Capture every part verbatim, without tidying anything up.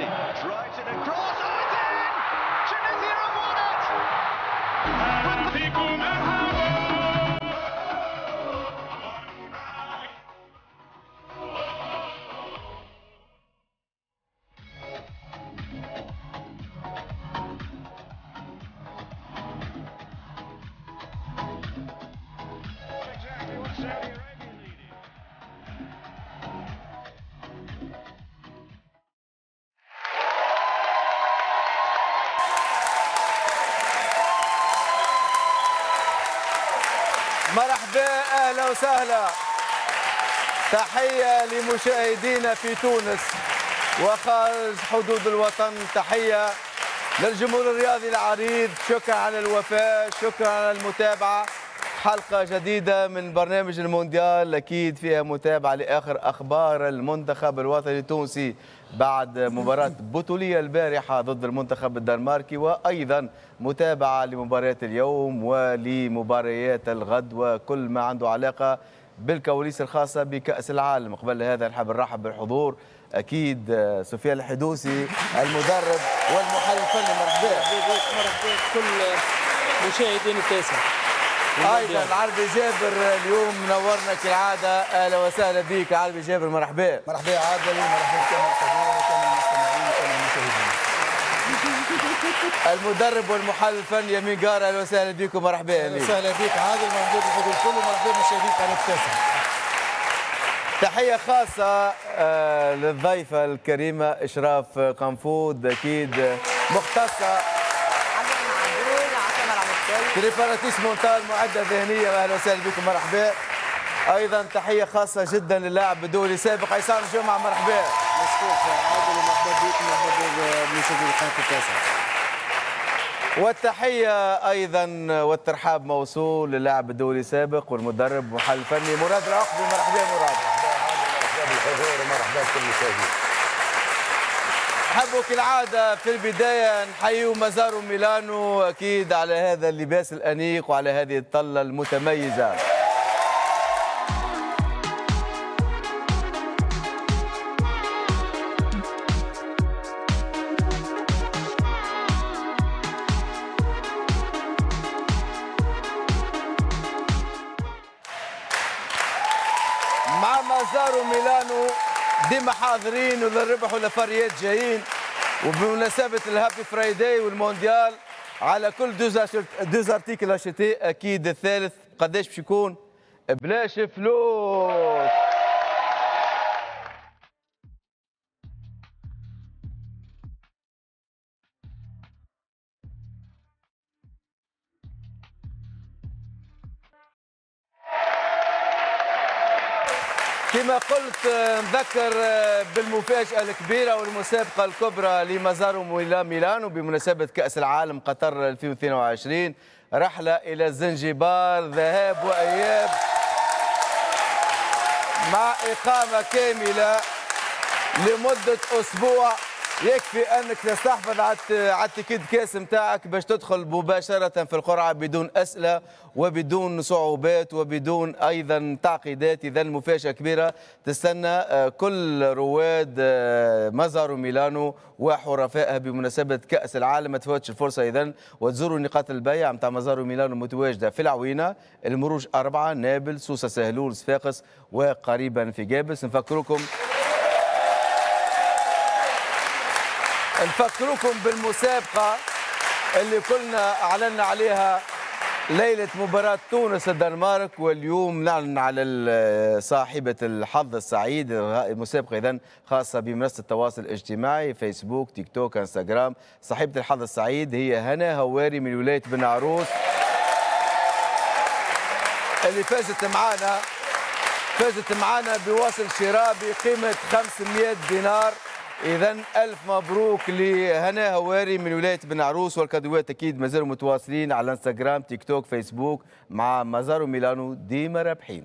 Messi drives it across. Oh, it's in! Tunisia have won it! Exactly what Saudi Arabia needed. مرحبا، اهلا وسهلا. تحية لمشاهدينا في تونس وخارج حدود الوطن، تحية للجمهور الرياضي العريض. شكرا على الوفاء، شكرا على المتابعة. حلقة جديدة من برنامج المونديال اكيد فيها متابعه لاخر اخبار المنتخب الوطني التونسي بعد مباراة بطوليه البارحة ضد المنتخب الدنماركي، وايضا متابعه لمباريات اليوم ولمباريات الغد وكل ما عنده علاقة بالكواليس الخاصة بكاس العالم. قبل هذا نحب نرحب بالحضور اكيد سفيان الحدوسي المدرب والمحلل الفني، مرحبا. مرحبا بكل مشاهدين التاسع. ايضا العربي جابر اليوم منورنا كالعادة، اهلا وسهلا بك عربي جابر، مرحبا. مرحبا عادل، مرحبا بكامل الحضور وكامل المستمعين وكامل المشاهدين. المدرب والمحلل الفني يمين قار، اهلا وسهلا بكم، مرحبا. اهلا وسهلا بك عادل، مرحبا بالحضور الكل ومرحبا بمشاهدين قناة التاسع. تحية خاصة آه، للضيفه الكريمة اشراف قنفود، اكيد مختصة préparatrice mentale، معده ذهنية، اهلا وسهلا بكم، مرحبا. ايضا تحية خاصة جدا للاعب الدولي السابق عصام جمعه، مرحبا. مشكور عادل، ومرحبا بك ومرحبا بمشاهدي القناة التاسعة. والتحيه ايضا والترحاب موصول للاعب الدولي السابق والمدرب ومحلل الفني مراد العقبي، مرحبا مراد. مرحبا بالحضور ومرحبا بكل المشاهدين. نحبوا كالعادة في البداية نحيوا مازارو ميلانو أكيد على هذا اللباس الأنيق وعلى هذه الطلة المتميزة. مع مازارو ميلانو ديما حاضرين وللربح والفريات جايين، وبمناسبة ال Happy Friday والمونديال على كل deux deux articles achetés اكيد الثالث قداش باش يكون بلاش فلوس. كما قلت نذكر بالمفاجأة الكبيرة والمسابقة الكبرى لمازارو ميلانو بمناسبة كأس العالم قطر ألفين واثنين وعشرين، رحلة إلى زنجبار ذهاب وإياب مع إقامة كاملة لمدة أسبوع. يكفي أنك تستحفظ على ال ticket caisse نتاعك باش تدخل مباشرة في القرعة بدون أسئلة وبدون صعوبات وبدون أيضا تعقيدات. إذا مفاجأة كبيرة تستنى كل رواد مازارو ميلانو وحرفائها بمناسبة كأس العالم. ما تفوتش الفرصة إذا وتزوروا نقاط البيع نتاع مازارو ميلانو متواجدة في العوينة، المروج أربعة، نابل، سوسة، سهلول، صفاقس، وقريبا في جابس. نفكركم نفكركم بالمسابقة اللي كنا أعلنا عليها ليلة مباراة تونس الدنمارك، واليوم نعلن على صاحبة الحظ السعيد. المسابقة إذن خاصة بمنصة التواصل الاجتماعي فيسبوك، تيك توك، انستغرام. صاحبة الحظ السعيد هي هنا هواري من ولاية بن عروس، اللي فازت معانا فازت معانا بوصل شراء بقيمة خمسمئة دينار. إذا ألف مبروك لهنا هواري من ولاية بن عروس، والكادوات أكيد مازالوا متواصلين على انستغرام، تيك توك، فيسبوك مع مازارو ميلانو، ديما رابحين.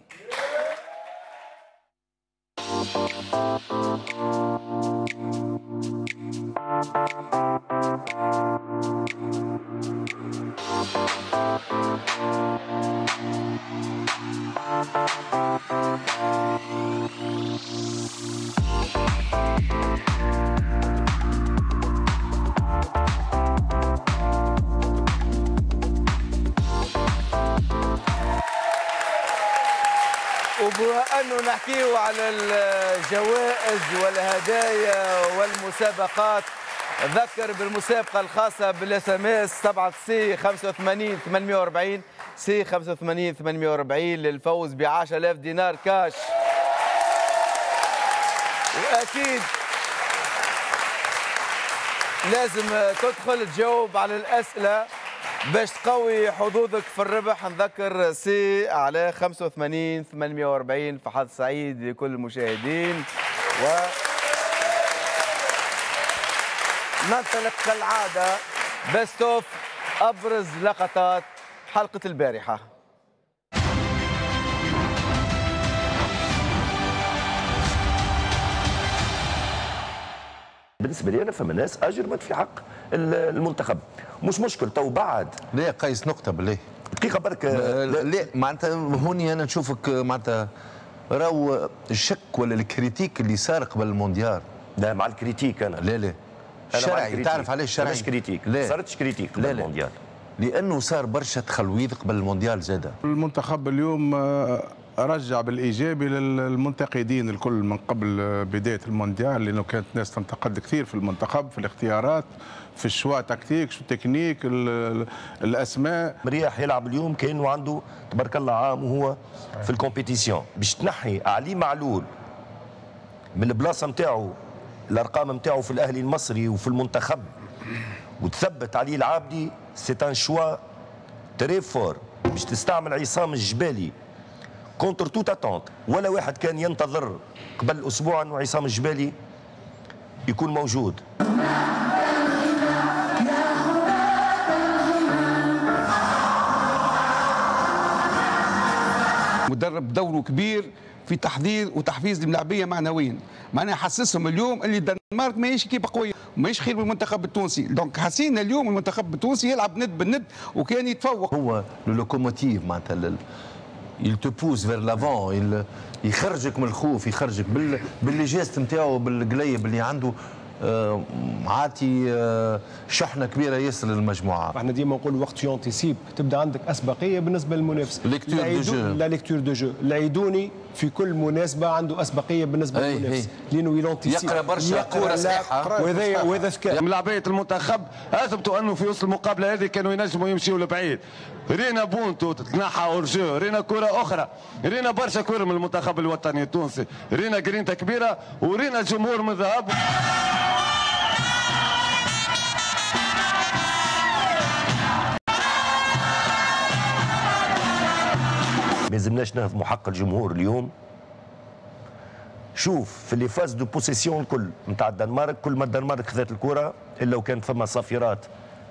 انه نحكيو على الجوائز والهدايا والمسابقات، ذكر بالمسابقه الخاصة بال SMS سبعة C خمسة وثمانين ثمانمئة وأربعين C خمسة وثمانين ثمانمئة وأربعين للفوز ب عشرة آلاف دينار كاش. واكيد لازم تدخل تجاوب على الاسئلة باش تقوي حظوظك في الربح. نذكر C على خمسة وثمانين ثمانمئة وأربعين. فحظ سعيد لكل المشاهدين، و ننطلق كالعادة best of أبرز لقطات حلقة البارحة. بالنسبة لي أنا فما ناس أجرمت في حق المنتخب، مش مشكل تو بعد. لا قيس نقطة بالله دقيقة برك. لا معناتها هوني أنا نشوفك معناتها راهو الشك ولا ال critique اللي صار قبل المونديال. لا مع ال critique أنا. لا لا شرعي، تعرف علاش شرعي؟ مش critique، ما صارتش critique قبل المونديال. لأنه صار برشا تخلويض قبل المونديال زادة. المنتخب اليوم رجع بالايجابي للمنتقدين الكل من قبل بداية المونديال، لانه كانت ناس تنتقد كثير في المنتخب، في الاختيارات، في ال choix tactique، شو تكنيك، الاسماء. مرياح يلعب اليوم كانه عنده تبارك الله عام وهو في ال compétition، باش تنحي علي معلول من البلاصة نتاعو، الارقام نتاعو في الاهلي المصري وفي المنتخب، وتثبت علي العابدي، c'est un choix très fort. باش تستعمل عصام الجبالي contre toute attente، ولا واحد كان ينتظر قبل اسبوع انه عصام الجبالي يكون موجود. مدرب دوره كبير في تحضير وتحفيز الملاعبيه معنويا، معناها حسسهم اليوم اللي الدنمارك ماهيش équipe قوية وماهيش خير من المنتخب التونسي، donc حسينا اليوم المنتخب التونسي يلعب ند بالند وكان يتفوق. هو locomotive معناتها il te pousse vers l'avant، يخرجك من الخوف، يخرجك بال بال les gestes نتاعو، بالقليب اللي عنده، آه عاطي آه شحنه كبيرة ياسر للمجموعة. احنا ديما نقول وقت t'anticipes تبدا عندك اسبقيه بالنسبة للمنافس. lecture de jeu، la lecture de jeu، العيدوني في كل مناسبة عنده اسبقيه بالنسبة للمنافس لانه il anticipe، يقرا برشا كورة صحيحه، وهذا وهذا ذكاء. ملاعبيه المنتخب اثبتوا انه في وسط المقابلة هذه كانوا ينجموا يمشيوا لبعيد. رينا بونتو تتنحى hors-jeu، رينا كره اخرى، رينا برشا كره من المنتخب الوطني التونسي، رينا جرينتا كبيرة ورينا جمهور من ذهب. ما يلزمناش نهضموا حق الجمهور اليوم. شوف في les phases de possession الكل نتاع الدنمارك، كل ما الدنمارك خذت الكره الا وكانت فما صافرات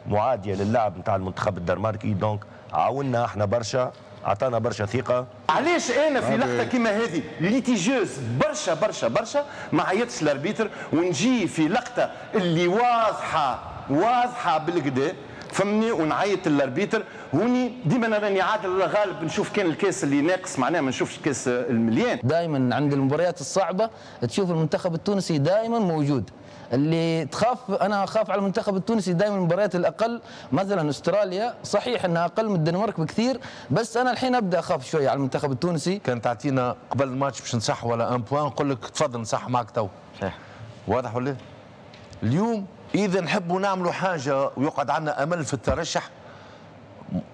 معاديه للعب نتاع المنتخب الدنماركي، donc عاونا احنا برشا، عطانا برشا ثقة. علاش انا في لقطة كيما هذه litigieuse برشا برشا برشا ما عيطش l'arbitre ونجي في لقطة اللي واضحة واضحة بالكدا فهمني ونعيط لل arbitre؟ هوني ديما انا راني عادل الغالب نشوف كان الكاس اللي ناقص، معناها ما نشوفش الكاس المليان. دائما عند المباريات الصعبة تشوف المنتخب التونسي دائما موجود. اللي تخاف، انا اخاف على المنتخب التونسي دائما المباريات الاقل، مثلا استراليا صحيح انها اقل من الدنمارك بكثير، بس انا الحين ابدا اخاف شوية على المنتخب التونسي. كان تعطينا قبل الماتش باش نصح ولا un point نقول لك تفضل نصح معك تو. صحيح. واضح ولا؟ اليوم اذا نحبوا نعملوا حاجة ويقعد عندنا امل في الترشح،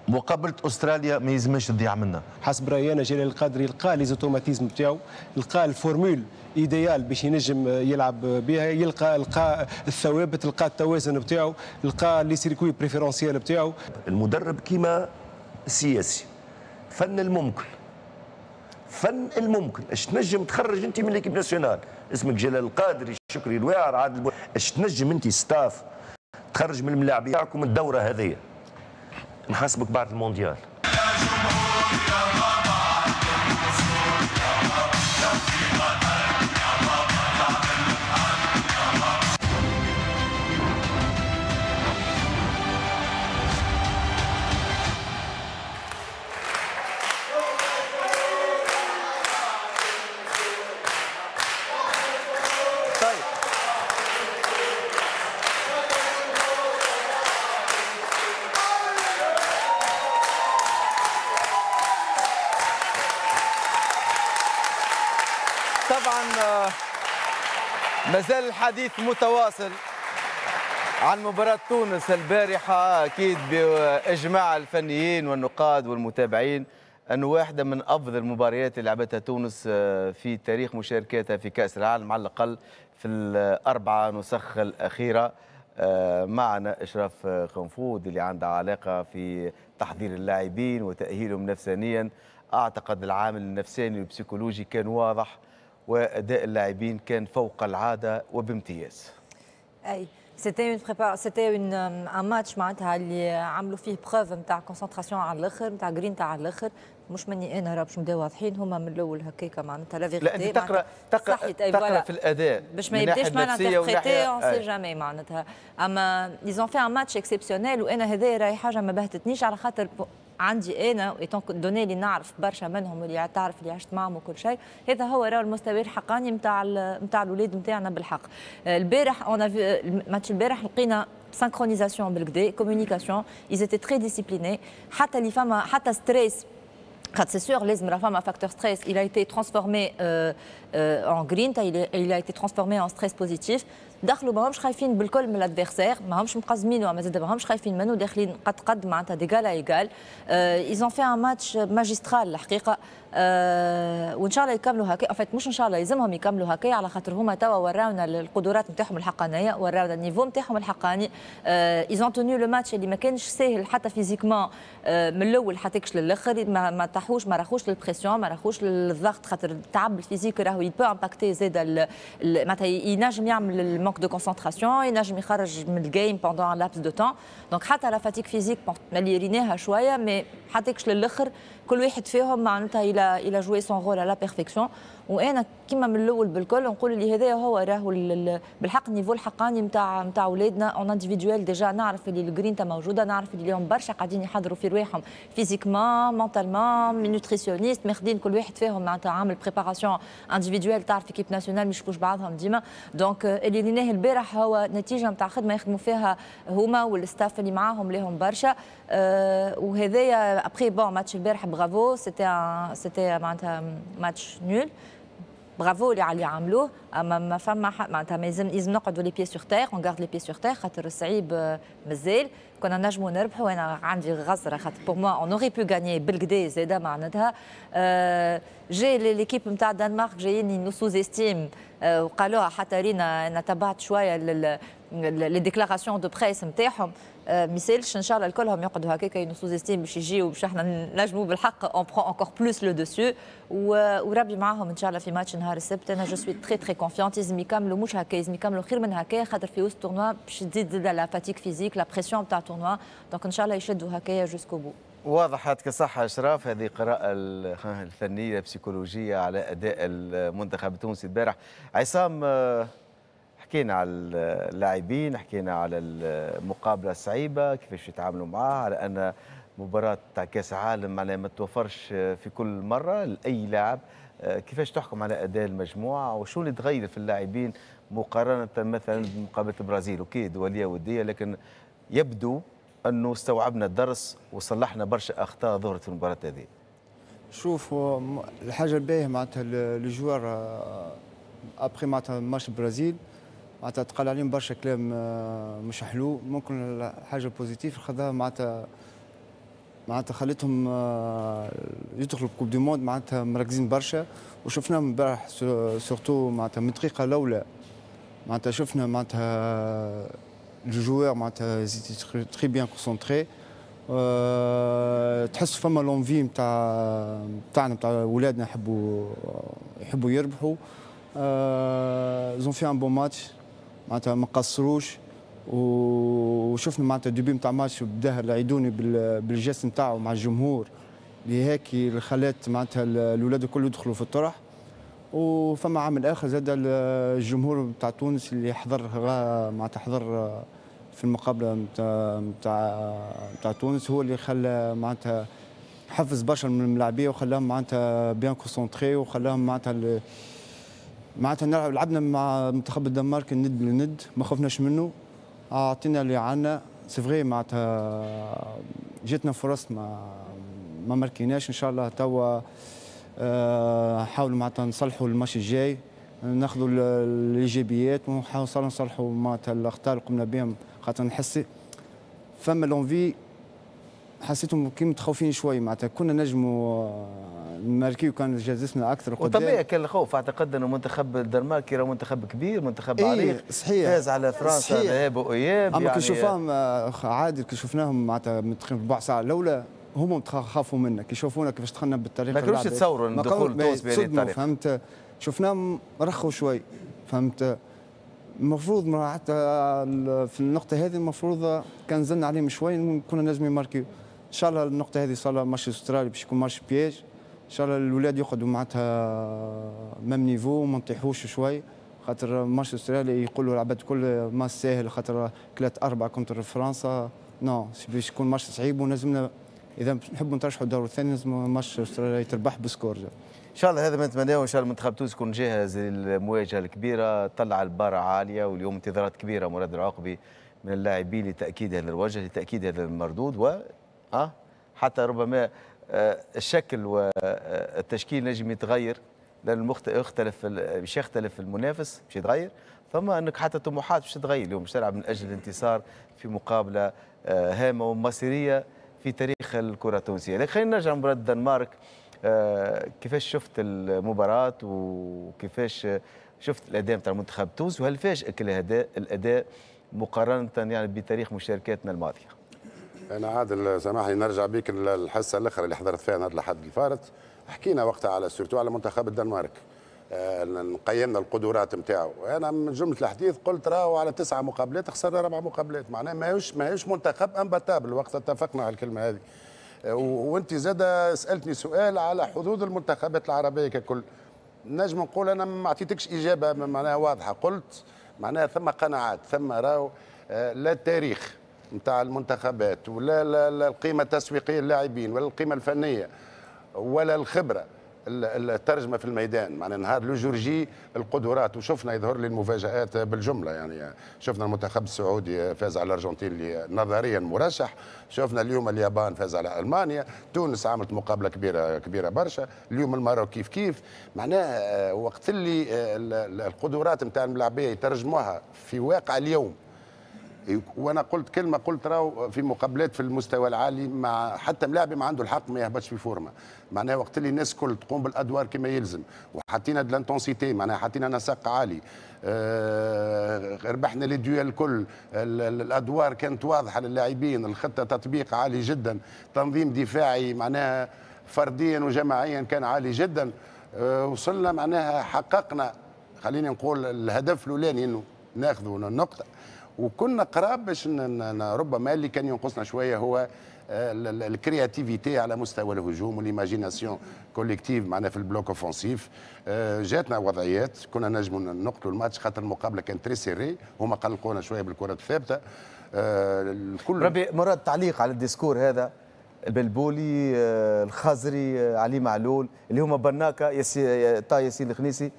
مقابله استراليا ما يلزمش تضيع منا. حسب رايي انا جلال القادري لقى les automatismes نتاعو، لقى ال formule idéale باش ينجم يلعب بها، يلقى لقى الثوابت، لقى التوازن نتاعو، لقى les circuits préférentiels نتاعو. المدرب كيما السياسي، فن الممكن، فن الممكن، اش تنجم تخرج انت من l'équipe nationale، اسمك جلال القادري، شكري الواعر، عادل، اش تنجم انت staff تخرج من الملاعبيه تاعكم الدورة هذيا. نحاسبك بعد المونديال. مازال الحديث متواصل عن مباراة تونس البارحة، أكيد بإجماع الفنيين والنقاد والمتابعين أنه واحدة من أفضل المباريات اللي لعبتها تونس في تاريخ مشاركاتها في كأس العالم، على الأقل في الأربعة نسخ الأخيرة. معنا إشراف قنفود اللي عنده علاقة في تحضير اللاعبين وتأهيلهم نفسانيا. أعتقد العامل النفساني والبسيكولوجي كان واضح، وأداء اللاعبين كان فوق العادة وبامتياز. أي c'était une prépa c'était une un match معناتها اللي عملوا فيه preuve نتاع concentration على الاخر، نتاع جرينتا على الاخر. مش مني انا راه باش نبداو واضحين، هما من الاول هكاكا معناتها la vérité. لا انت تقرا تقرا تقرا في الاداء باش ما يبداش mal interprété، on sait jamais معناتها. اما ils ont fait un match exceptionnel، وانا هذايا راهي حاجة ما بهتتنيش على خاطر عندي انا étant donné اللي نعرف برشا منهم واللي تعرف اللي عشت معهم وكل شيء، هذا هو راه المستوى الحقاني نتاع نتاع الاولاد نتاعنا بالحق. البارح on a vu الماتش البارح لقينا synchronisation بالكدا، communication، ils étaient très disciplinés. حتى اللي فما حتى stress، خاطر c'est sûr لازم راه فما facteur stress، il a été transformé euh, euh, en grinta، il, il a été transformé en stress positif. دخلوا ماهمش خايفين بالكل من l'adversaire، ماهمش مقزمين وما زاد ماهمش خايفين منه، داخلين قد قد معناتها d'égal à égal. ils ont fait un match magistral الحقيقه، أه وان شاء الله يكملوا هكا. en fait مش ان شاء الله، يلزمهم يكملوا هكا على خاطر هما توا وراونا القدرات نتاعهم الحقانيه، وراونا ال niveau نتاعهم الحقاني. ils ont tenu le match اللي ما كانش ساهل حتى physiquement، أه من الاول حتىكش للاخر، ما, ما طاحوش، ما راخوش لل pression، ما راخوش للضغط، خاطر التعب ال physique راهو il peut impacter زاد، معناتها ينجم يعمل ال manque de concentration، ينجم يخرج من ال game pendant un laps de temps. donc حتى la fatigue physique اللي ريناها شويه، mais حتىكش للاخر كل واحد فيهم معناتها il a il a joué son rôle à la perfection. وانا كيما من الاول بالكل نقول اللي هذا هو راهو بالحق ال niveau الحقاني نتاع نتاع اولادنا en individuel. déjà نعرف اللي الجرينتا موجوده، نعرف اللي اليوم برشا قاعدين يحضروا في رواحهم physiquement، mentalement، nutritionniste ماخذين كل واحد فيهم معناتها عامل préparation individuelle. تعرف équipe nationale ما يشوفوش بعضهم ديما. donc اللي ريناه البارح هو نتيجة نتاع خدمة يخدموا فيها هما وال staff اللي معاهم لهم برشا. أه وهذايا après bon match البارح bravo، c'était c'était معناتها match nul، bravo اللي على اللي عملوه. اما ما فما معناتها ما لازم لازم نقعدوا les pieds sur terre، on garde les pieds sur terre، خاطر الصعيب مازال. كنا نجموا نربحوا، انا عندي غزره خاطر pour moi on aurait pu gagner بالكدا زاده معناتها. أه جاي l'équipe نتاع الدنمارك جايين nous sous-estiment، وقالوها حتى رينا، انا تبعت شوية les déclarations de presse نتاعهم. ميسالش، ان شاء الله الكلهم يقعدوا هكاك nous sous-estiment باش يجيو باش احنا نجموا بالحق on prend encore plus le dessus، وربي معاهم ان شاء الله في ماتش نهار السبت. انا je suis très très confiante. لازم يكملوا مش هكا، لازم يكملوا خير من هكا، خاطر في وسط tournoi باش تزيد زاد la fatigue physique، la pression تاع tournoi. donc ان شاء الله يشدوا هكايا jusqu'au bout. واضح، يعطيك الصحة أشراف. هذه قراءة الفنية البسيكولوجية على أداء المنتخب التونسي البارح. عصام، حكينا على اللاعبين، حكينا على المقابلة الصعيبة كيفاش يتعاملوا معها، على أن مباراة تاع كأس عالم معناها ما توفرش في كل مرة لأي لاعب. كيفاش تحكم على أداء المجموعة وشو اللي تغير في اللاعبين مقارنة مثلا بمقابلة البرازيل؟ OK دولية ودية، لكن يبدو أنه استوعبنا الدرس وصلحنا برشا أخطاء ظهرت في المباراة هذه. شوف، الحاجة الباهية معناتها les joueurs après معناتها ماتش البرازيل معناتها تقال عليهم برشا كلام آه، مش حلو. ممكن الحاجة positive خذاها معناتها معناتها خلتهم آه، يدخلوا Coupe du monde معناتها مركزين برشا، وشفناهم امبارح surtout معناتها من الدقيقة الاولى معناتها شفنا معناتها les joueurs معناتها très bien concentrés. تحس فما l'envie نتاع نتاعنا نتاع ولادنا، يحبوا يحبوا يربحوا. ils ont fait un bon match معناتها ما قصروش، وشفنا معناتها début نتاع ماتش بداه العيدوني بال geste نتاعو مع الجمهور اللي هيك اللي خلات معناتها الاولاد الكل يدخلوا في الطرح. وفما عامل اخر زاد، الجمهور نتاع تونس اللي حضر معناتها حضر في المقابلة نتاع نتاع نتاع تونس، هو اللي خلى معناتها حفز برشا من الملاعبيه وخلاهم معناتها bien concentrés، وخلاهم معناتها معناتها نلعب. لعبنا مع منتخب الدنمارك الند للند، ما خفناش منه، اعطينا اللي عندنا. c'est vrai معناتها جاتنا فرص ما ما ماركيناش. ان شاء الله توا آه، حاولوا معناتها نصلحوا الماتش الجاي. ناخذوا الايجابيات ونحاولوا نصلحوا معناتها الاخطاء اللي قمنا بهم، خاطر نحس فما l'envie، حسيتهم كي متخوفين شوي، معناتها كنا نجموا نماركيو كان جازتنا اكثر قدام. وطبيعي كان الخوف، اعتقد انه منتخب الدنمارك راه منتخب كبير، منتخب إيه عريق، صحيح، فاز على فرنسا ذهاب واياب. اما يعني كي شوفناهم عادل، كي شفناهم معناتها ربع ساعة الاولى هما خافوا منا، كي شافونا كيفاش دخلنا بالطريقة، ما كانوش يتصوروا ان دخول تونس بهذه الطريقة، فهمت؟ شفناهم رخوا شوي، فهمت؟ المفروض حتى في النقطة هذه المفروض كان زلنا عليهم شوي كنا نجم يماركيو. ان شاء الله النقطة هذه صار ماتش استرالي باش يكون match piège، ان شاء الله الاولاد يقعدوا معناتها même niveau وما نطيحوش شوي، خاطر ماتش استرالي يقولوا العباد الكل ما ساهل، خاطر كلات أربعة contre فرنسا، non باش يكون ماتش صعيب، ولازمنا اذا نحبوا نترشحوا الدور الثاني لازم ماتش استراليا يتربح ب score. ان شاء الله هذا ما نتمناه، وان شاء الله المنتخب التونسي يكون جاهز للمواجهه الكبيرة. طلع البارة عالية، واليوم انتظارات كبيرة مراد العقبي من اللاعبين لتاكيد هذا الوجه، لتاكيد هذا المردود، و أه حتى ربما الشكل والتشكيل نجم يتغير، لان يختلف، باش يختلف المنافس باش يتغير، ثم انك حتى الطموحات باش تتغير. اليوم باش تلعب من اجل الانتصار في مقابله هامة ومصيريه في تاريخ الكره التونسية. لكن خلينا نرجع لمباراة الدنمارك، كيفاش شفت المباراة وكيفاش شفت الاداء نتاع المنتخب التونسي، وهل فاجئك الاداء الاداء مقارنة يعني بتاريخ مشاركاتنا الماضية؟ انا عادل سامحني نرجع بيك الحصة الاخرى اللي حضرت فيها نهار الاحد الفارط، حكينا وقتها على surtout على منتخب الدنمارك، قيمنا القدرات نتاعو. انا من جملة الحديث قلت راهو على تسعة مقابلات خسرنا اربع مقابلات، معناها ماهوش ماهوش منتخب imbattable، وقتها اتفقنا على الكلمة هذه. وانت زاد سالتني سؤال على حظوظ المنتخبات العربية ككل، نجم نقول انا ما اعطيتكش اجابه معناها واضحة، قلت معناها ثم قناعات، ثم راهو لا التاريخ نتاع المنتخبات ولا لا القيمة التسويقية للاعبين ولا القيمة الفنية ولا الخبرة الترجمة في الميدان، معناها نهار le jour J القدرات، وشفنا يظهر لي المفاجات بالجملة، يعني شفنا المنتخب السعودي فاز على الارجنتين اللي نظريا مرشح، شفنا اليوم اليابان فاز على المانيا، تونس عملت مقابله كبيرة كبيرة برشا، اليوم الماروك كيف كيف، معناها وقت اللي القدرات نتاع الملاعبيه يترجموها في واقع اليوم. وانا قلت كلمة، قلت راهو في مقابلات في المستوى العالي مع حتى ملاعبي ما عنده الحق ما يهبطش في forme، معناها وقت اللي الناس كل تقوم بالادوار كما يلزم، وحطينا de l'intensité، معناها حطينا نسق عالي، آه ربحنا les duels الكل، الادوار كانت واضحة للاعبين، الخطة تطبيق عالي جدا، تنظيم دفاعي معناها فرديا وجماعيا كان عالي جدا، آه وصلنا معناها حققنا خليني نقول الهدف الاولاني انه ناخذوا النقطة، وكنا قراب باش ربما اللي كان ينقصنا شوية هو ال créativité على مستوى الهجوم وال imagination collective معناها في ال bloc offensif. جاتنا وضعيات كنا نجموا نقتلوا الماتش، خاطر المقابلة كانت très serrée، هما قلقونا شوية بالكرة الثابتة. الكل ربي مراد تعليق على ال discours هذا، البلبولي، الخزري، علي معلول، اللي هما بناكه ياسي طا ياسين الخنيسي،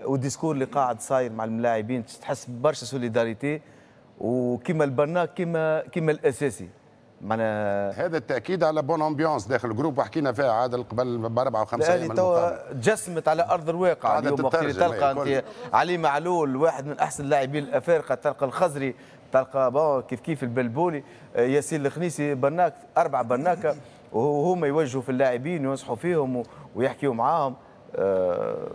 وال discours اللي قاعد صاير مع الملاعبين، تحس برشا solidarité، وكما البناك كما كما الاساسي معناها هذا التاكيد على bonne ambiance داخل ال groupe، وحكينا فيها عادل قبل باربعة وخمسة ايام. توا تجسمت على ارض الواقع اليوم، وقت اللي تلقى انت علي معلول واحد من احسن اللاعبين الافارقة، تلقى الخزري، تلقى bon كيف كيف البلبولي، ياسين الخنيسي، بناك اربعة بناكه، وهما يوجهوا في اللاعبين وينصحوا فيهم ويحكيوا معاهم. أه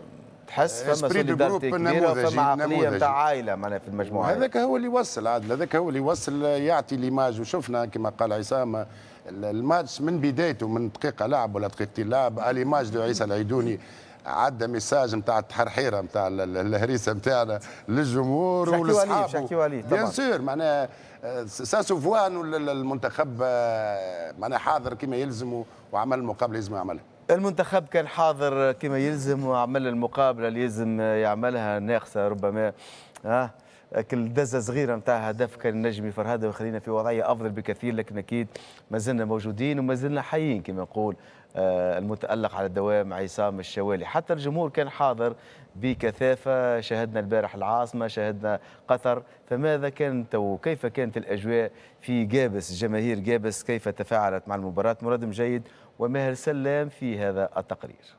تحس فما solidarité كبيرة، فما عقلية نتاع عائلة معناها في المجموعة. هذاك هو اللي يوصل عادل، هذاك هو اللي يوصل، يعطي l'image. وشفنا كما قال عصام الماتش من بدايته، من دقيقة لعب ولا دقيقتين لعب، à l'image de عيسى العيدوني عدى message نتاع التحرحيره نتاع الهريسه نتاعنا للجمهور ولاصحابه. bien sûr معناها ça se voit انه المنتخب معناها حاضر كما يلزم وعمل المقابلة لازم يعملها. المنتخب كان حاضر كما يلزم وعمل المقابلة اللي يلزم يعملها، ناقصه ربما ها كل دزه صغيرة نتاع هدف كان النجم يفرهدها ويخلينا في وضعية افضل بكثير، لكن اكيد ما زلنا موجودين وما زلنا حيين كما نقول. المتألق على الدوام عصام الشوالي، حتى الجمهور كان حاضر بكثافة، شاهدنا البارح العاصمة، شاهدنا قطر، فماذا كانت وكيف كانت الأجواء في جابس؟ جماهير جابس كيف تفاعلت مع المباراة؟ مراد مجيد وماهر سلام في هذا التقرير.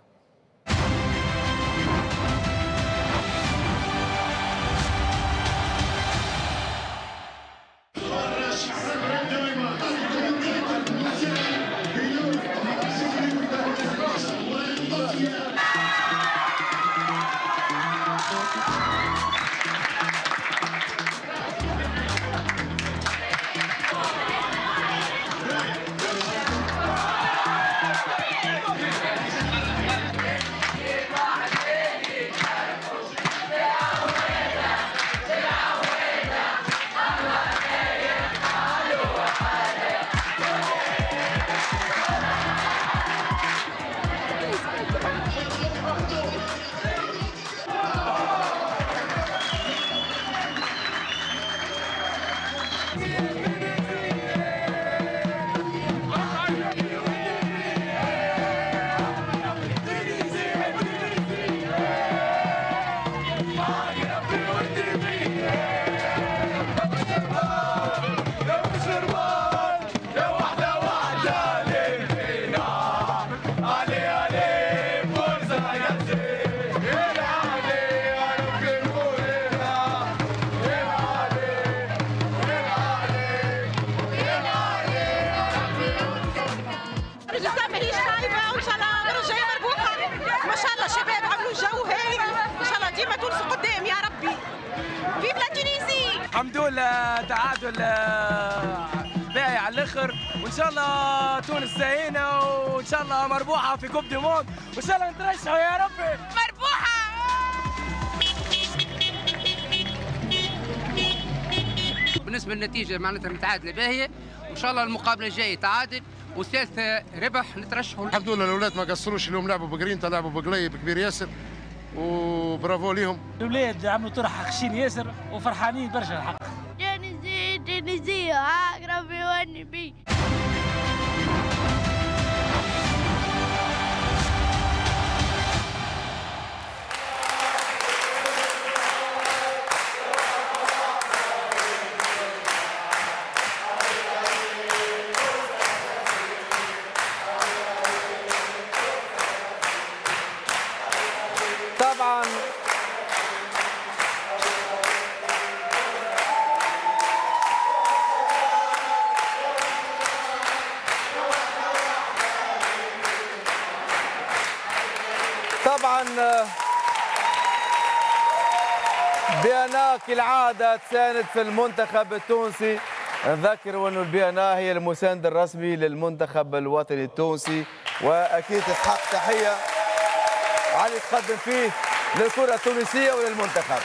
لله تعادل باهي على الاخر، وان شاء الله تونس زينة، وان شاء الله مربوحه في coupe du monde، وان شاء الله نترشحوا يا ربي مربوحه. بالنسبة للنتيجة معناتها متعادله باهيه، وان شاء الله المقابلة الجاية تعادل وثالثه ربح نترشحوا. الحمد لله الاولاد ما قصروش اليوم، لعبوا بقرينتا، لعبوا بقليب كبير ياسر، وبرافو ليهم. الاولاد عملوا طرح خشين ياسر وفرحانين برشا الحق. تونسية تونسية عقربي والنبي. طبعا طبعا بي ان كالعادة تساند في المنتخب التونسي. نذكر أن البي ان هي المساند الرسمي للمنتخب الوطني التونسي، وأكيد تستحق تحية على اللي تقدم فيه للكرة التونسية وللمنتخب.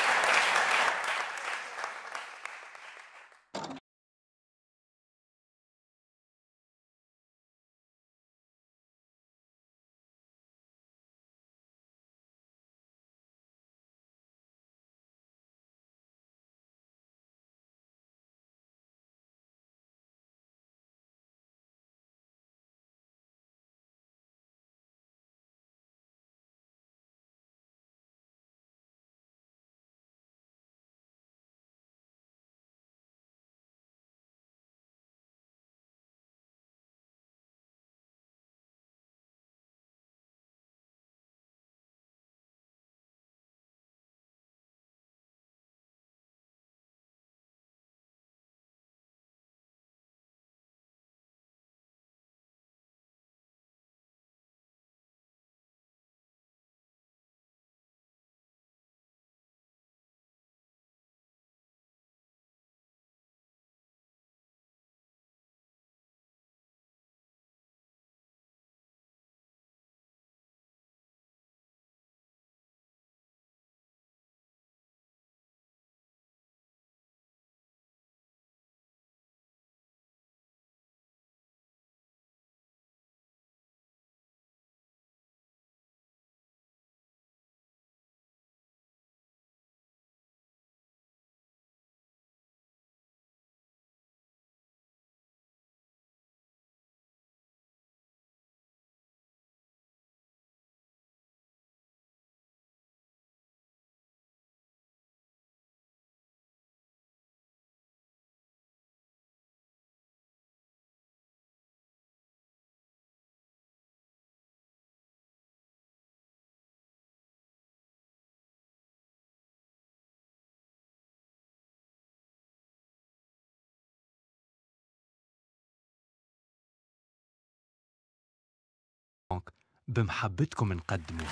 بمحبتكم نقدمه.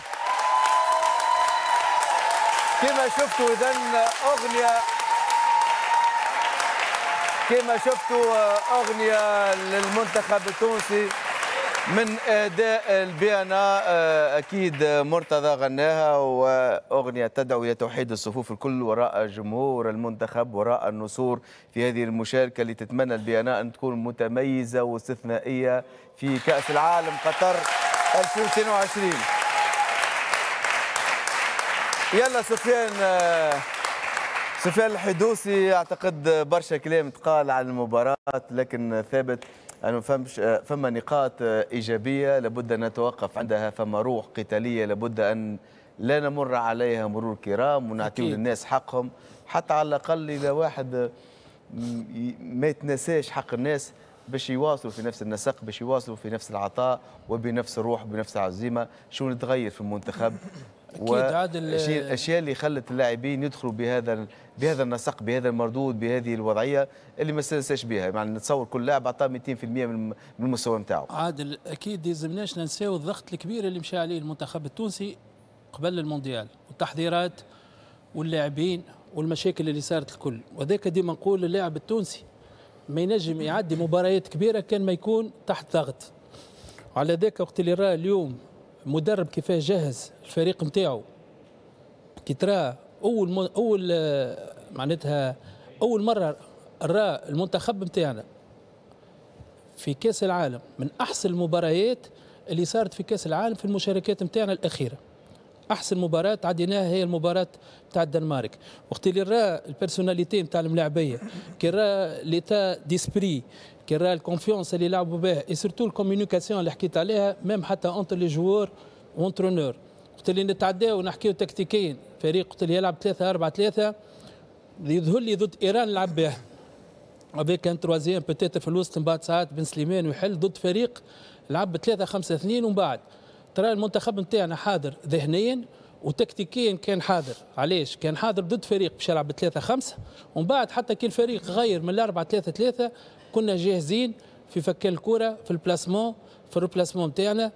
كما شفتوا إذن أغنية، كما شفتوا أغنية للمنتخب التونسي من أداء البيانا، أكيد مرتضى غناها، وأغنية تدعو إلى توحيد الصفوف الكل وراء جمهور المنتخب وراء النسور في هذه المشاركة اللي تتمنى البيانا أن تكون متميزة واستثنائية في كأس العالم قطر ألفين واثنين وعشرين. يلا سفيان، سفيان الحدوسي، اعتقد برشا كلام تقال عن المباراة، لكن ثابت انه فمش فما نقاط ايجابية لابد ان نتوقف عندها، فما روح قتالية لابد ان لا نمر عليها مرور كرام ونعطيو للناس حقهم، حتى على الاقل اذا واحد ما يتنساش حق الناس باش يواصلوا في نفس النسق، باش يواصلوا في نفس العطاء وبنفس الروح وبنفس العزيمة. شو نتغير في المنتخب؟ اكيد عادل، الاشياء اللي خلت اللاعبين يدخلوا بهذا بهذا النسق، بهذا المردود، بهذه الوضعية اللي ما استانساش بها. يعني نتصور كل لاعب عطاه مئتين بالمئة من المستوى نتاعو. عادل اكيد يلزمناش ننساو الضغط الكبير اللي مشى عليه المنتخب التونسي قبل المونديال، والتحضيرات واللاعبين والمشاكل اللي صارت الكل، وذاك ديما نقول اللاعب التونسي ما ينجم يعدي مباريات كبيرة كان ما يكون تحت ضغط. وعلى ذاك وقت اللي راه اليوم مدرب كيفاش جهز الفريق نتاعو، كي ترى اول م... اول معناتها اول مرة راه المنتخب نتاعنا في كاس العالم من احسن المباريات اللي صارت في كاس العالم في المشاركات نتاعنا الاخيرة. احسن مباراة عديناها هي المباراة تاع الدنمارك. وقت اللي راه ال personnalité نتاع الملاعبيه، كي راه l'état d'esprit، كي راه ال confiance اللي لعبوا بها، et surtout ال communication اللي حكيت عليها même حتى entre les joueurs و entraîneur. وقت اللي نتعداو ونحكيو تكتيكيا، فريق وقت اللي يلعب ثلاثة أربعة ثلاثة يظهر لي ضد ايران لعب بها avec un troisième peut-être في الوسط، من بعد ساعات بن سليمان ويحل ضد فريق لعب ثلاثة خمسة اثنين. ومن بعد ترى المنتخب نتاعنا حاضر ذهنيا وتكتيكيا كان حاضر. علاش؟ كان حاضر ضد فريق باش يلعب بثلاثة خمسة، ومن بعد حتى كي الفريق غير من الأربعة ثلاثة ثلاثة كنا جاهزين في فكان الكرة، في ال placement، في ال replacement نتاعنا.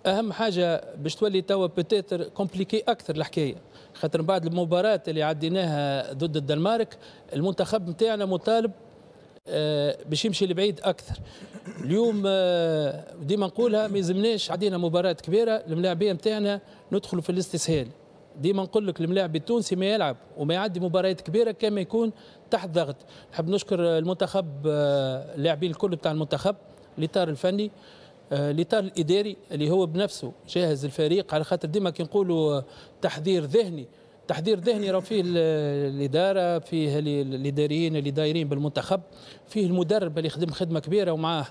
أهم حاجة باش تولي توا peut-être compliqué أكثر الحكاية، خاطر من بعد المباراة اللي عديناها ضد الدنمارك المنتخب نتاعنا مطالب باش يمشي لبعيد اكثر. اليوم ديما نقولها ما يلزمناش عدينا مباراة كبيرة الملاعبيه نتاعنا ندخلوا في الاستسهال. ديما نقول لك الملاعب التونسي ما يلعب وما يعدي مباريات كبيرة كما يكون تحت ضغط. نحب نشكر المنتخب، اللاعبين الكل بتاع المنتخب، الاطار الفني، الاطار الاداري اللي هو بنفسه جاهز الفريق، على خاطر ديما كي نقولوا تحضير ذهني، تحضير ذهني راه فيه الادارة، فيه الاداريين اللي دايرين بالمنتخب، فيه المدرب اللي خدم خدمة كبيرة ومعاه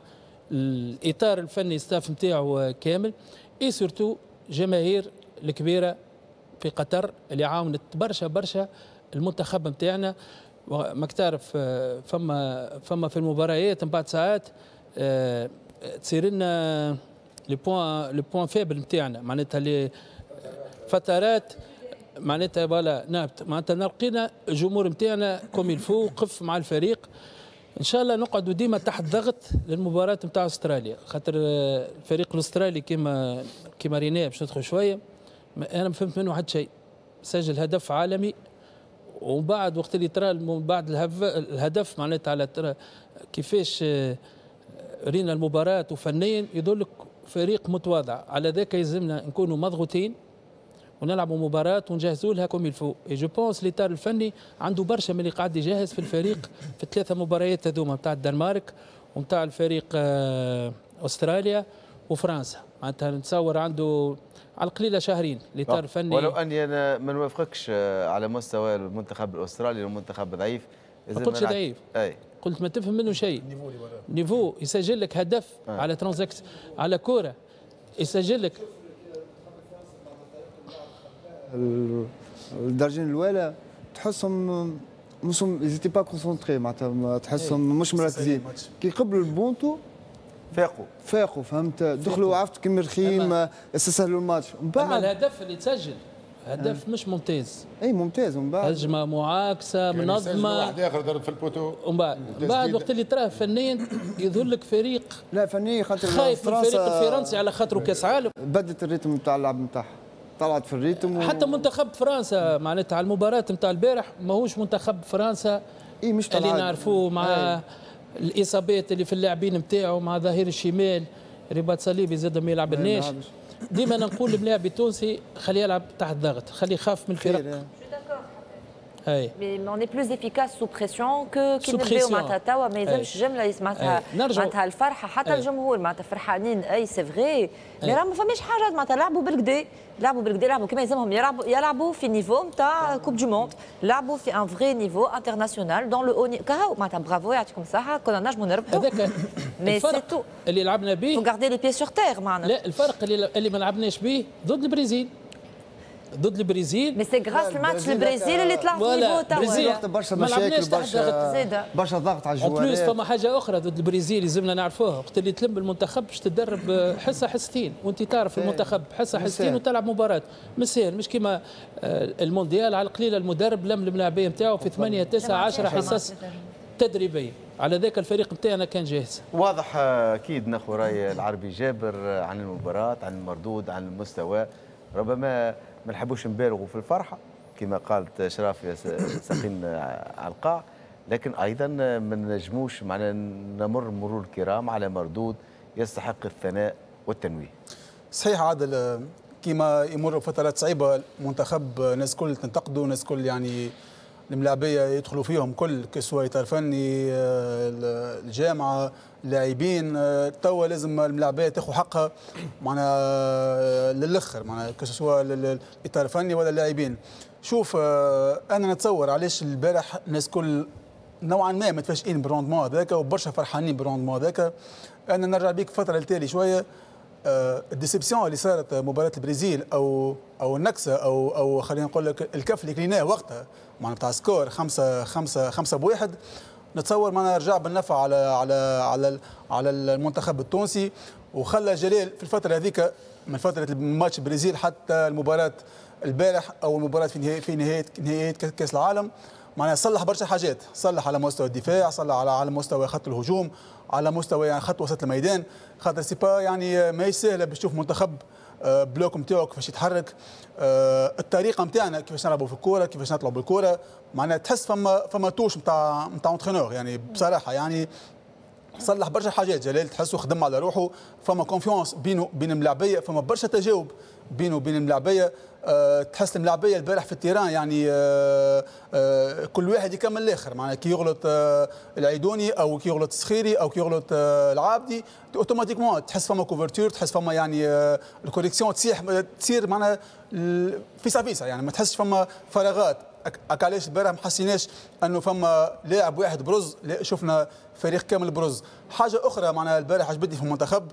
الاطار الفني staff نتاعو كامل، et surtout جماهير الكبيرة في قطر اللي عاونت برشا برشا المنتخب نتاعنا. ماك تعرف فما فما في المباريات من بعد ساعات تصير لنا les points les points faibles نتاعنا، معناتها les فترات معناتها voilà نابت، معناتها نلقينا الجمهور نتاعنا comme il faut وقف مع الفريق. ان شاء الله نقعدوا ديما تحت ضغط للمباراة نتاع استراليا، خاطر الفريق الاسترالي كما كما ريناه باش ندخل شوية، انا ما فهمت منه حتى شيء. سجل هدف عالمي ومن بعد وقت اللي ترى بعد الهدف معناتها على ترى كيفاش رينا المباراة وفنيا يدلك فريق متواضع. على ذاك يلزمنا نكونوا مضغوطين ونلعبوا مباراة ونجهزوا لها comme il faut. et je pense الاطار الفني عنده برشا من اللي قاعد يجهز في الفريق في الثلاثة مباريات هذوما نتاع الدنمارك ونتاع الفريق استراليا وفرنسا. معناتها نتصور عنده على القليلة شهرين الاطار الفني. ولو اني انا ما نوافقكش على مستوى المنتخب الاسترالي، المنتخب ضعيف. ما قلتش ضعيف، اي قلت ما تفهم منه شيء. niveau يسجل لك هدف آه. على transaction، على كورة يسجل لك. الدرجين الاولى تحسهم مش ils étaient pas concentrés، معناتها تحسهم مش مركزين. كي قبلوا البونتو فاقوا فاقوا فهمت، دخلوا عرفت كي مرخيم استسهلوا الماتش. من بعد الهدف اللي تسجل هدف مش ممتاز. اي ممتاز. ومن بعد هجمة معاكسة منظمة، واحد اخر ضرب في ال poteau. ومن بعد بعد وقت اللي تراه فنيا يظهر لك فريق لا فنيا، خاطر خايف من الفريق الفرنسي على خاطره كاس عالم. بدت ال rythme نتاع اللعب نتاعها، طلعت في ال rythme و... حتى منتخب فرنسا معناتها على المباراة نتاع البارح ماهوش منتخب فرنسا إيه مش اللي نعرفوه مع أي. الاصابات اللي في اللاعبين نتاعو، مع ظهير الشمال رباط صليبي زاد ما يلعبلناش. ديما نقول للملاعب التونسي خليه يلعب تحت ضغط، خليه يخاف من الفرق. اي mais on est plus efficace sous pression que كي نبداو معناتها توا ما يلزمش جملة معناتها معناتها الفرحة حتى أي. الجمهور معناتها فرحانين اي c'est vrai، mais راه ما فماش حاجة معناتها لعبوا بالكدا، لعبوا بالكدا، لعبوا كما يلزمهم يلعبوا، يلعبوا في niveau نتاع Coupe du monde، لعبوا في un vrai niveau international dans le haut كهو معناتها برافو يعطيكم الصحة، كنا نجموا نربحوا. هذاك mais c'est tout اللي لعبنا به، garder les pieds sur terre معناتها. لا الفرق اللي اللي ما لعبناش به ضد البرازيل، ضد البرازيل mais c'est grâce الماتش البرازيل اللي طلع في niveau توا برشا مشاكل برشا برشا ضغط على الجوارات. en plus فما حاجة اخرى ضد البرازيل لازمنا نعرفوها، وقت اللي تلم المنتخب باش تدرب حصة حصتين، وانت تعرف المنتخب حصة حصتين وتلعب مباراة مش ساهل، مش كيما المونديال على القليلة المدرب لم الملاعبيه نتاعو في ثمانية تسعة عشرة حصص تدريبية. على ذاك الفريق نتاعنا كان جاهز. واضح اكيد ناخذ راي العربي جابر عن المباراة، عن المردود، عن المستوى. ربما ما نحبوش نبالغوا في الفرحة، كما قالت شراف ساقين على القاع، لكن ايضا ما نجموش معنا نمر مرور الكرام على مردود يستحق الثناء والتنويه. صحيح عادل، كما يمر فترات صعيبة المنتخب، الناس كل تنتقده، الناس كل يعني الملاعبيه يدخلوا فيهم كل que ce soit اطار فني، الجامعة، اللاعبين. توا لازم الملاعبيه تاخذ حقها معنا للاخر، معنا que ce soit الاطار الفني ولا اللاعبين. شوف انا نتصور علاش البارح الناس كل نوعا ما متفاجئين بال rendement هذاك وبرشا فرحانين بال rendement هذاك. انا نرجع بيك فترة لتالي شوية، ال déception اللي صارت مباراة البرازيل او او النكسه او او خلينا نقول لك الكف اللي كليناه وقتها معنا بتاع score خمسة خمسة خمسة بواحد، نتصور معنا رجع بالنفع على على على على المنتخب التونسي، وخلى جلال في الفترة هذيك من فترة ماتش البرازيل حتى المباراة البارح او المباراة في نهاية في نهاية نهاية كاس العالم، معناها صلح برشا حاجات، صلح على مستوى الدفاع، صلح على على مستوى خط الهجوم، على مستوى يعني خط وسط الميدان، خاطر c'est pas يعني ماهيش سهلة باش تشوف منتخب bloc نتاعو كيفاش يتحرك، الطريقة نتاعنا كيفاش نلعبوا في الكورة، كيفاش نطلعوا بالكورة، معناها تحس فما فما touche نتاع نتاع entraîneur يعني بصراحة يعني صلح برشا حاجات جلال، تحسه خدم على روحه، فما confiance بينه بين الملاعبيه، فما برشا تجاوب بينه وبين الملاعبيه. أه تحس الملاعبيه البارح في ال terrain يعني أه أه كل واحد يكمل الاخر، معناها كي يغلط أه العيدوني او كي يغلط السخيري او كي يغلط أه العابدي automatiquement تحس فما couverture، تحس فما يعني أه ال correction تصيح تصير معناها فيسا فيسا، يعني ما تحسش فما فراغات. علاش البارح ما حسيناش انه فما لاعب واحد برز، لا شفنا فريق كامل برز. حاجة اخرى معناها البارح عجبتني في المنتخب،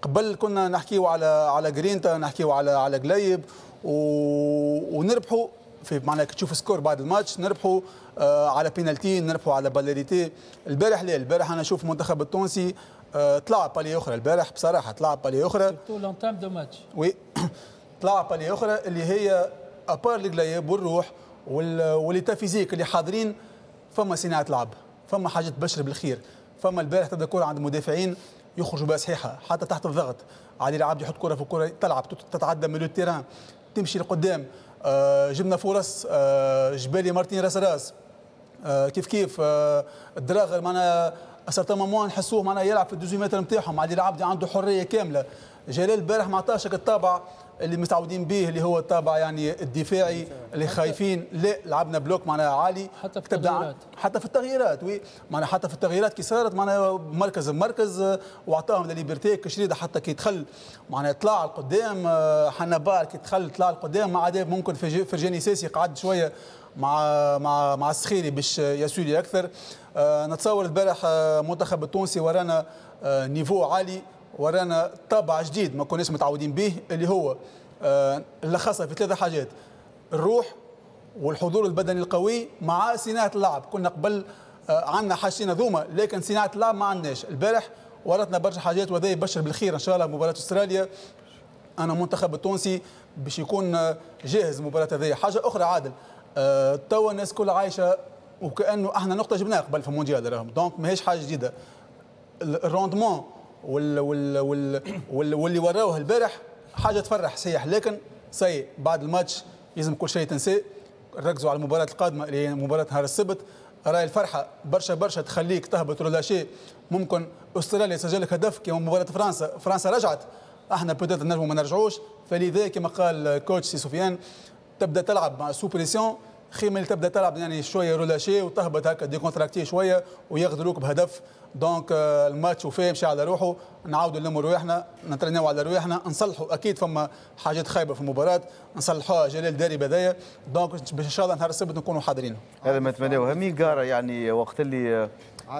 قبل كنا نحكيو على على جرينتا، نحكيو على على قليب و... ونربحوا في معناها كي تشوف score بعد الماتش نربحوا آه على بينالتي، نربحوا على balle arrêtée. البارح لا، البارح انا اشوف المنتخب التونسي آه طلع palier اخرى البارح بصراحة، طلع palier اخرى surtout l'entame de match، oui طلع palier اخرى اللي هي à part القليب والروح و l'état physique اللي حاضرين، فما صناعة لعب، فما حاجة تبشر بالخير، فما البارح تبدا كره عند المدافعين يخرجوا بها صحيحه حتى تحت الضغط، علي العابد يحط كره في الكره تلعب تتعدى من ال terrain تمشي لقدام. آه جبنا فرص، آه جبالي مارتين راس راس، آه كيف كيف آه الدراغر معناها certains moments نحسوه معناها يلعب في ال dix-huit mètres نتاعهم، علي العابدي عنده حرية كاملة. جلال البارح ما عطاش الطابع اللي متعودين به اللي هو الطابع يعني الدفاعي اللي خايفين، لا لعبنا bloc معناها عالي حتى في التغييرات، حتى في التغييرات oui معناها حتى في التغييرات كي صارت معناها مركز مركز واعطاهم la liberté. كشريده حتى كي دخل معناها طلع لقدام، حنبال كي دخل طلع لقدام، مع عدا ممكن فرجاني ساسي قعد شوية مع مع مع السخيري باش يسولي اكثر. نتصور البارح المنتخب التونسي ورانا niveau عالي، ورانا طابع جديد ما كناش متعودين به اللي هو آه لخصها في ثلاثة حاجات: الروح والحضور البدني القوي مع صناعة اللعب. كنا قبل آه عندنا حاجتين هذوما لكن صناعة اللعب ما عندناش. البارح ورتنا برشا حاجات وهذا يبشر بالخير ان شاء الله مباراة استراليا. انا المنتخب التونسي باش يكون جاهز المباراة هذه. حاجة اخرى عادل، آه توا الناس كلها عايشه وكانه احنا نقطة جبناها قبل في المونديال راهم، donc ماهيش حاجة جديدة. ال rendement وال وال وال وال واللي وراوه البارح حاجة تفرح صحيح، لكن سي بعد الماتش لازم كل شيء تنساه، ركزوا على المباراة القادمة اللي هي مباراة نهار السبت. راي الفرحة برشا برشا تخليك تهبط relâché، ممكن استراليا سجل لك هدف كما مباراة فرنسا، فرنسا رجعت، احنا peut-être نجموا ما نرجعوش. فلذا كما قال coach سي سفيان تبدا تلعب مع sous pression خير من تبدا تلعب يعني شوية relâché وتهبط هكا décontracté شوية ويغدروك بهدف. donc الماتش وفيه مشى على روحه، نعاودوا نلموا رواحنا، نترناو على رواحنا، نصلحوا. اكيد فما حاجات خايبة في المباراة نصلحوها، جلال داري بداية. donc باش ان شاء الله نهار السبت نكونوا حاضرين. هذا ما نتمناه. ميغارا يعني وقت اللي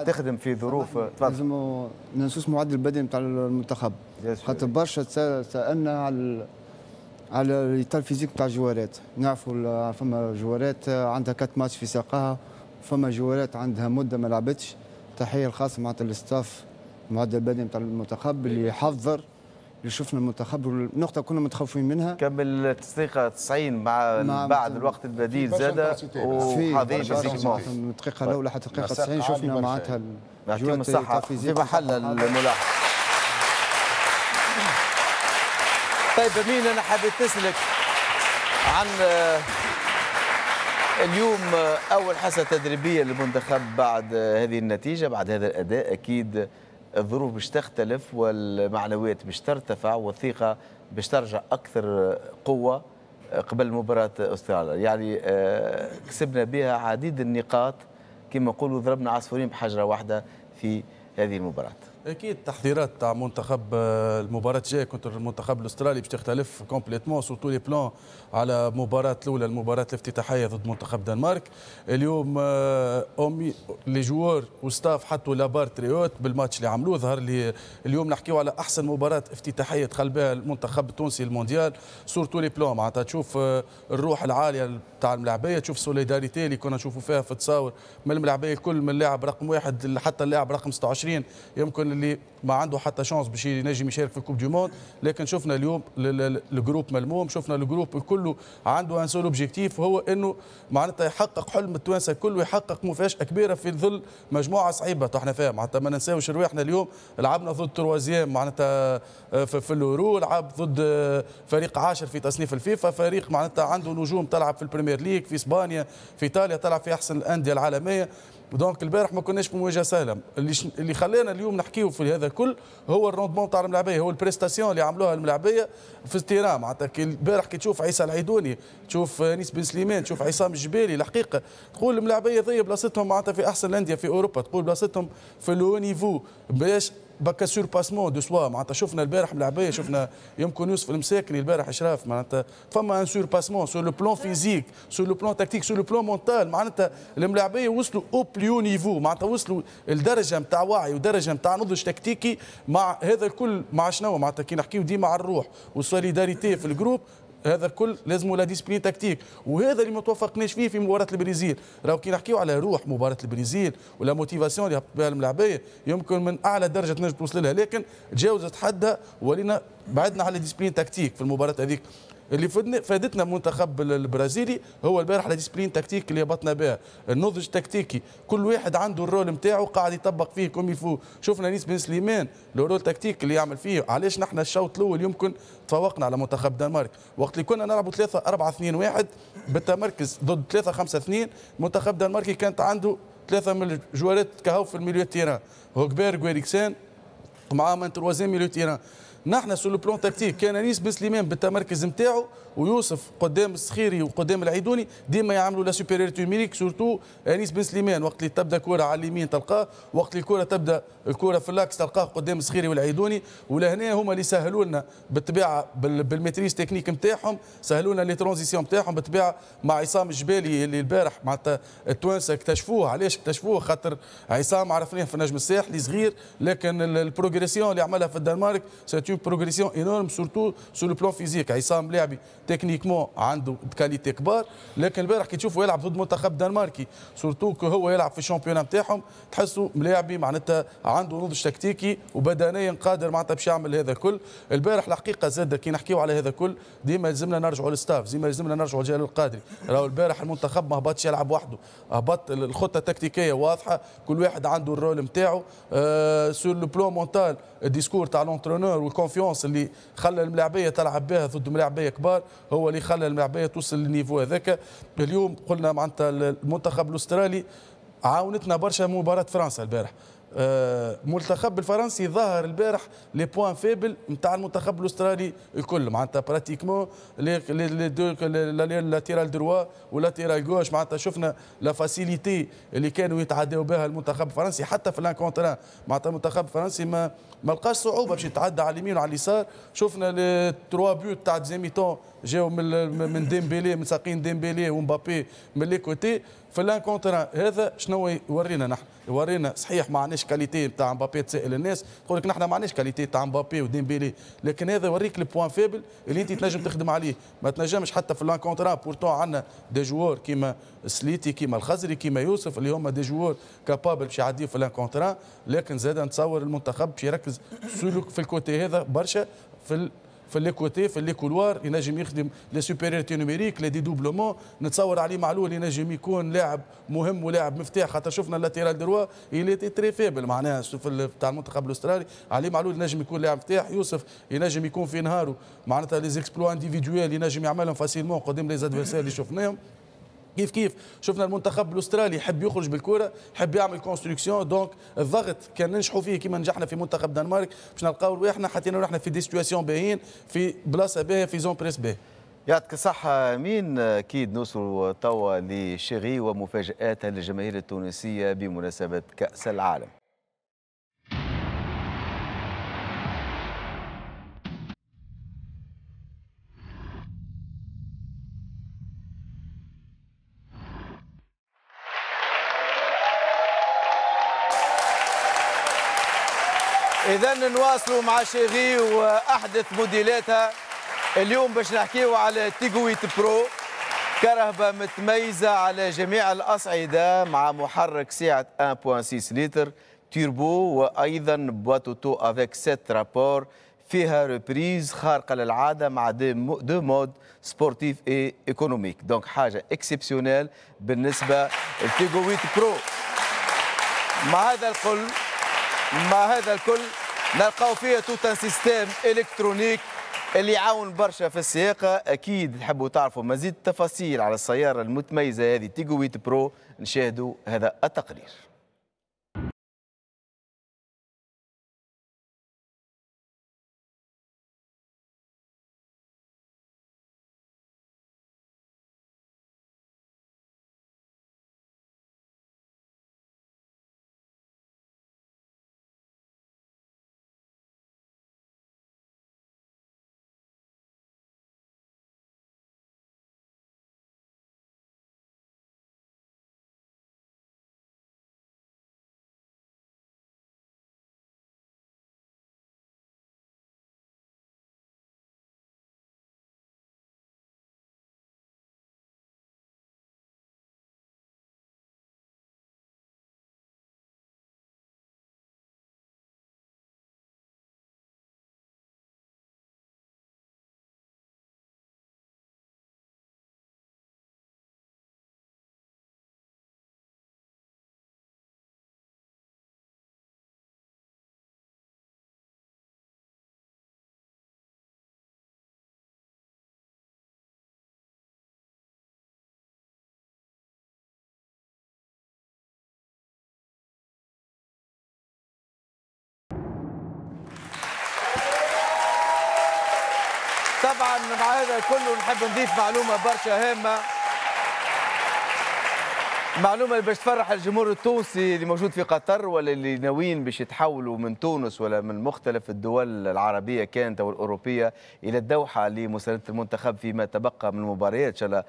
تخدم في ظروف لازم ما ننسوش معدل البدني نتاع المنتخب، خاطر برشا سالنا على على l'état physique تاع الجوارات. نعرفوا فما جوارات عندها quatre matchs في ساقها، فما جوارات عندها مده ما لعبتش. تحية الخاصة معناتها لل staff المعدل البدني نتاع المنتخب اللي حضر، اللي شفنا المنتخب النقطة كنا متخوفين منها. كمل الدقيقة تسعين مع, مع بعد الوقت البديل زاد وحاضرين physiquement من الدقيقة الاولى حتى الدقيقة تسعين شفنا معناتها يعطيهم الصحة في محل الملاحظة. طيب أمين، أنا حبيت نسألك عن اليوم اول حصة تدريبية للمنتخب بعد هذه النتيجة، بعد هذا الاداء، اكيد الظروف باش تختلف والمعنويات باش ترتفع والثقة باش ترجع اكثر قوة قبل مباراة استراليا. يعني كسبنا بها عديد النقاط، كما نقولوا ضربنا عصفورين بحجره واحدة في هذه المباراة. اكيد التحضيرات تاع منتخب المباراة الجاية contre المنتخب الاسترالي باش تختلف complètement sur tous les plans على المباراة الاولى، المباراة الافتتاحيه ضد منتخب دنمارك. اليوم أومي les joueurs و staff حطوا la barre très haute بالماتش اللي عملوه. ظهر لي اليوم نحكيو على احسن مباراة افتتاحيه دخل بها المنتخب التونسي المونديال sur tous les plans. معناتها تشوف الروح العالية تاع الملاعبيه، تشوف solidarité اللي كنا نشوفوا فيها في تصاور من الملاعبيه الكل، من اللاعب رقم واحد حتى اللاعب رقم ستة وعشرين يمكن اللي ما عنده حتى chance باش ينجم يشارك في ال coupe du monde. لكن شفنا اليوم ال groupe ملموم، شفنا ال groupe كله عنده un seul objectif، وهو انه معناتها يحقق حلم التوانسة الكل ويحقق مفاجاة كبيرة في ظل مجموعة صعيبة احنا فيها. معناتها ما ننساوش رواحنا اليوم لعبنا ضد troisième معناتها في, في l'Euro، لعب ضد فريق عاشر في تصنيف الفيفا، فريق معناتها عنده نجوم تلعب في ال Premier League في اسبانيا في ايطاليا، تلعب في احسن الاندية العالمية. donc البارح ما كناش في مواجهة سهلة. اللي ش... اللي خلانا اليوم نحكيو في هذا الكل هو ال rendement تاع الملاعبيه، هو ال prestation اللي عملوها الملاعبيه في ال terrain. معناتها البارح كي تشوف عيسى العيدوني، تشوف انيس بن سليمان، تشوف عصام الجبالي، الحقيقة تقول الملاعبيه ذي بلاصتهم معناتها في احسن الاندية في اوروبا، تقول بلاصتهم في le haut niveau باش بكا surpassement de soi. معناتها شفنا البارح ملاعبيه، شفنا يمكن يوسف المساكني البارح اشراف، معناتها فما un surpassement sur le plan physique، sur le plan tactique، sur le plan mental. معناتها الملاعبيه وصلوا au plus haut niveau، معناتها وصلوا لدرجة نتاع وعي ودرجة نتاع نضج تكتيكي. مع هذا الكل مع شنو معناتها كي نحكيو ديما على الروح وال solidarité في ال groupe، هذا الكل لازم la discipline tactique، وهذا اللي ما توفقناش فيه في مباراة البرازيل. راهو كي نحكيو على روح مباراة البرازيل و la motivation اللي هبط بها الملاعبيه يمكن من اعلى درجه تنجم توصل لها، لكن تجاوزت حدها ولينا بعدنا على discipline tactique في المباراة هذيك. اللي فدنا فادتنا المنتخب البرازيلي هو البارح la discipline tactique اللي هبطنا بها، النضج التكتيكي، كل واحد عنده ال rôle نتاعو قاعد يطبق فيه comme il faut. شفنا انيس بن سليمان le rôle tactique اللي يعمل فيه. علاش نحن الشوط الاول يمكن تفوقنا على منتخب دنمارك وقت اللي كنا نلعبوا ثلاثة أربعة اثنين واحد بالتمركز ضد ثلاثة خمسة اثنين، منتخب دنماركي كانت عنده ثلاثة من الجوارات كهو في ال milieu terrain، هوكبيرغ وإريكسان مع un troisième milieu terrain. نحن sur le plan tactique كان انيس بن سليمان بالتمركز نتاعو ويوسف قدام السخيري وقدام العيدوني ديما يعملوا la supériorité numérique، surtout انيس بن سليمان وقت اللي تبدا كره على اليمين تلقاه، وقت اللي الكره تبدا الكره في l'axe تلقاه قدام السخيري والعيدوني. ولهنا هما اللي سهلوا لنا بالطبيعة بال maîtrise technique نتاعهم، سهلوا لنا les transitions نتاعهم بالطبيعة مع عصام الجبالي اللي البارح معناتها التوانسة اكتشفوه. علاش اكتشفوه؟ خاطر عصام عرفناه في النجم الساحلي صغير، لكن ال progression اللي عملها في الدنمارك c'est une progression énorme surtout sur le plan physique. عصام لاعبي techniquement عنده qualités كبار، لكن البارح كي تشوفه يلعب ضد منتخب دنماركي surtout هو يلعب في ال championnat نتاعهم، تحسه ملاعبي معناتها عنده نضج تكتيكي وبدنيا قادر معناتها باش يعمل هذا الكل. البارح الحقيقة زاد كي نحكيو على هذا الكل ديما لازمنا نرجعوا لل staff، ديما لازمنا نرجعوا لجلال القادري. راهو البارح المنتخب ما هبطش يلعب وحده، هبط الخطة التكتيكيه واضحة، كل واحد عنده ال rôle نتاعو. أه sur le plan mental ال discours تاع l'entraîneur وال confiance اللي خلى الملاعبيه تلعب بها ضد ملاعبيه كبار هو اللي خلى الملاعبيه توصل لل niveau هذاك. اليوم قلنا معناتها المنتخب الاسترالي عاونتنا برشا مباراة فرنسا البارح. المنتخب الفرنسي ظهر البارح les points faibles نتاع المنتخب الاسترالي الكل، معناتها pratiquement les les deux latéral droit و latéral gauche، معناتها شفنا la facilité اللي كانوا يتعداو بها المنتخب الفرنسي حتى في l'un contre un. معناتها المنتخب الفرنسي ما ما لقاش صعوبة باش يتعدى على اليمين وعلى اليسار. شفنا les trois buts تاع deuxième mi-temps جاو من من ديمبيلي، من ساقين ديمبيلي ومبابي من les côtés في l'un contre un. هذا شنو يورينا نحن؟ يورينا صحيح ما عندناش qualité نتاع مبابي، تسال الناس تقول لك نحن ما عندناش qualité تاع مبابي وديمبيلي، لكن هذا يوريك ال point faible اللي انت تنجم تخدم عليه. ما تنجمش حتى في l'un contre un، pourtant عندنا des joueurs كيما سليتي كيما الخزري كيما يوسف اللي هما des joueurs capables باش يعديو في l'un contre un، لكن زاد نتصور المنتخب باش يركز في ال côté هذا برشا، في في les côtés في les couloirs ينجم يخدم les supériorités numériques les dédoublements. نتصور علي معلول ينجم يكون لاعب مهم ولاعب مفتاح، خاطر شفنا ال latéral droit il était très faible معناها في تاع المنتخب الاسترالي. علي معلول ينجم يكون لاعب مفتاح، يوسف ينجم يكون في نهاره معناتها les exploits individuels ينجم يعملهم facilement قدام les adversaires اللي شفناهم. كيف كيف شفنا المنتخب الاسترالي يحب يخرج بالكرة، يحب يعمل construction، donc الضغط كان ننجحوا فيه كما نجحنا في منتخب دنمارك باش نلقاو رواحنا حطينا روحنا في des situations باهيين، في بلاصة باهيه، في zone press باهي. يعطيك الصحة أمين. أكيد نوصلوا توا لشيري ومفاجآتها للجماهير التونسية بمناسبة كأس العالم. إذا نواصلوا مع شيري وأحدث موديلاتها. اليوم باش نحكيو على تيغو ثمانية Pro، كرهبة متميزة على جميع الأصعدة مع محرك سعة واحد فاصلة ستة لتر تيربو، وأيضا boîte auto avec sept rapports، فيها reprise خارقة للعادة مع deux modes sportif et économique، donc حاجة exceptionnelle بالنسبة لتيغو ثمانية Pro. مع هذا الكل مع هذا الكل نلقاو فيها tout un système électronique اللي يعاون برشا في السياقه. اكيد تحبوا تعرفوا مزيد التفاصيل على السيارة المتميزة هذه تيغو ثمانية Pro، نشاهدوا هذا التقرير. طبعا مع هذا كله نحب نضيف معلومة برشا هامة، معلومة اللي باش تفرح الجمهور التونسي اللي موجود في قطر ولا اللي ناويين باش يتحولوا من تونس ولا من مختلف الدول العربية كانت او الاوروبية الى الدوحة لمسانده المنتخب فيما تبقى من المباريات، ان شاء الله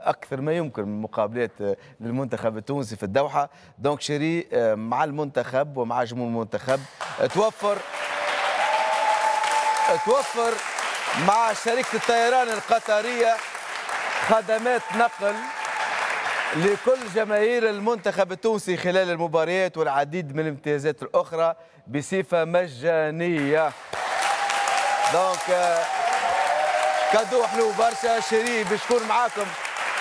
اكثر ما يمكن من مقابلات للمنتخب التونسي في الدوحة. donc شيري مع المنتخب ومع جمهور المنتخب توفر توفر مع شركة الطيران القطرية خدمات نقل لكل جماهير المنتخب التونسي خلال المباريات والعديد من الامتيازات الأخرى بصفة مجانية. donc cadeau حلو برشا شيري باش تكون معاكم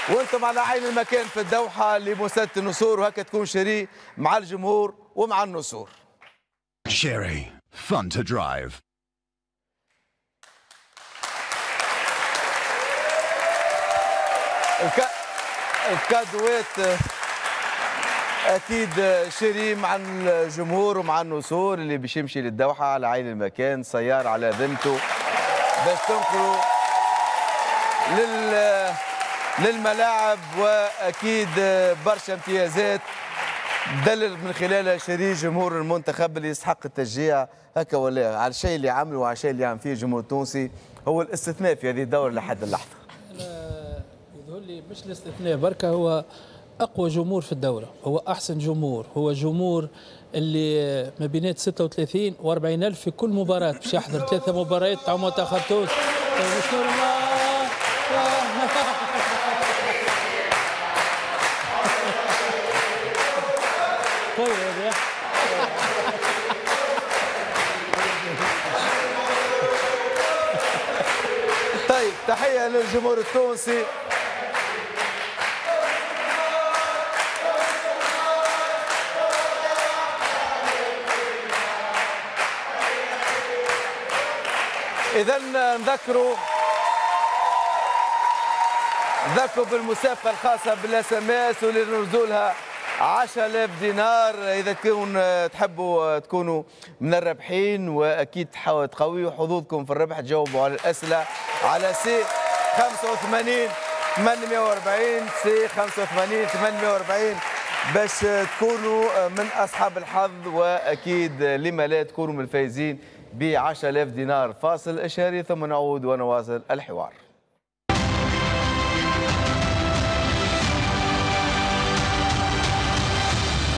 وانتم على عين المكان في الدوحة لمساندة النسور، وهكا تكون شيري مع الجمهور ومع النسور. شيري fun to drive. الك... الكادوات اكيد شيري مع الجمهور ومع النسور اللي باش يمشي للدوحه على عين المكان، سيارة على ذمته باش تنقلوا لل... للملاعب، واكيد برشا امتيازات دلل من خلالها شيري جمهور المنتخب اللي يستحق التشجيع هكا ولا على الشيء اللي عمله وعلى الشيء اللي عم فيه الجمهور التونسي، هو الاستثناء في هذه الدورة لحد اللحظة. يظهر لي مش الاستثناء بركة، هو اقوى جمهور في الدورة، هو احسن جمهور، هو جمهور اللي ما بينات ستة وثلاثين وأربعين ألف في كل مباراة باش يحضر ثلاثة مباريات تاع منتخب تونس. مش normal. طيب تحية للجمهور التونسي. إذا نذكروا ذكروا بالمسابقه الخاصة بال SMS واللي نرزوا لها عشرة آلاف دينار. اذا تكون تحبوا تكونوا من الرابحين واكيد تقويوا حظوظكم في الربح، تجاوبوا على الاسئلة على C خمسة وثمانين ثمانمئة وأربعين، C خمسة وثمانين ثمانمئة وأربعين، باش تكونوا من اصحاب الحظ، واكيد لما لا تكونوا من الفائزين ب عشرة آلاف دينار. فاصل اشهاري ثم نعود ونواصل الحوار.